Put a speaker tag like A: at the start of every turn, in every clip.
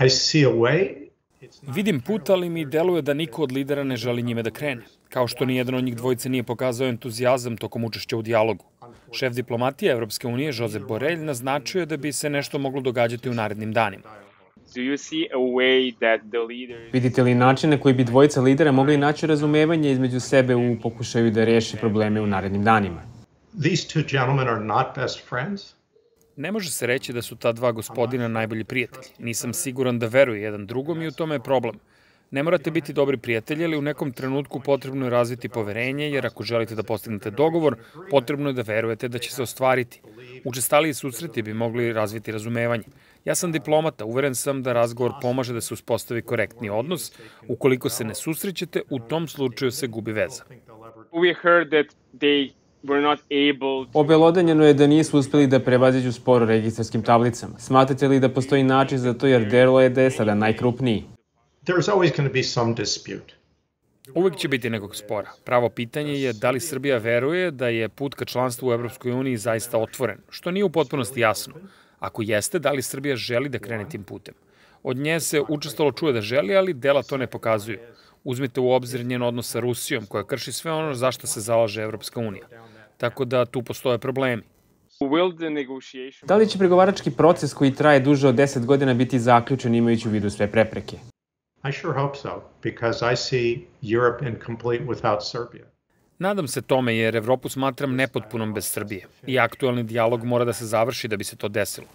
A: I see a way.
B: Vidim put, ali mi deluje da niko od lidera ne želi njime da krene. Kao što nijedan od njih dvojice nije pokazao entuzijazam tokom učešća u dijalogu. Šef diplomatije Evropske unije, Josep Borrell, naznačio je da bi se nešto moglo događati u narednim danima.
C: Vidite li način na koji bi dvojica lidera mogli naći razumevanje između sebe u pokušaju da reše probleme u narednim danima?
A: These two gentlemen are not best friends.
B: Ne može se reći da su ta dva gospodina najbolji prijatelji. Nisam siguran da veruju jedan drugom i u tome je problem. Ne morate biti dobri prijatelji, ali u nekom trenutku potrebno je razviti poverenje, jer ako želite da postignete dogovor, potrebno je da verujete da će se ostvariti. Učestaliji susreti bi mogli razviti razumevanje. Ja sam diplomata, uveren sam da razgovor pomaže da se uspostavi korektni odnos. Ukoliko se ne susrećete, u tom slučaju se gubi veza.
C: Obelodanjeno je da nisu uspeli da prevaziđu spor o registarskim tablicama. Smatrate li da postoji način za to, jer deluje je da je sada najkrupniji?
A: There's always going to be some dispute.
B: Uvek će biti nekog spora. Pravo pitanje je da li Srbija veruje da je put ka članstvu u Evropskoj uniji zaista otvoren, što nije u potpunosti jasno. Ako jeste, da li Srbija želi da krene tim putem? Od nje se učestalo čuje da želi, ali dela to ne pokazuju. Uzmite u obzir njen odnos sa Rusijom, koja krši sve ono za što se zalaže Evropska unija. Tako da tu postoje problemi.
C: Da li će pregovarački proces koji traje duže od 10 godina biti zaključen imajući u vidu sve prepreke?
A: I sure hope so, because I see Europe incomplete without Serbia.
B: Nadam se tome jer Evropu smatram nepotpunom bez Srbije i aktuelni dijalog mora da se završi da bi se to desilo.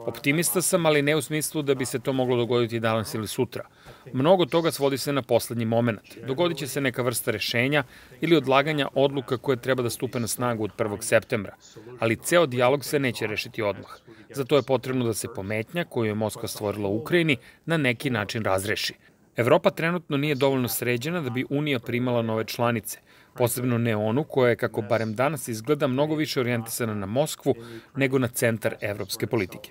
B: Optimista sam, ali ne u smislu da bi se to moglo dogoditi danas ili sutra. Mnogo toga svodi se na poslednji moment. Dogodit će se neka vrsta rešenja ili odlaganja odluka koje treba da stupe na snagu od 1. septembra, ali ceo dijalog se neće rešiti odmah. Zato je potrebno da se pometnja koju je Moskva stvorila u Ukrajini na neki način razreši. Evropa trenutno nije dovoljno sređena da bi Unija primala nove članice, posebno ne onu koja je, kako barem danas izgleda, mnogo više orijentisana na Moskvu nego na centar evropske politike.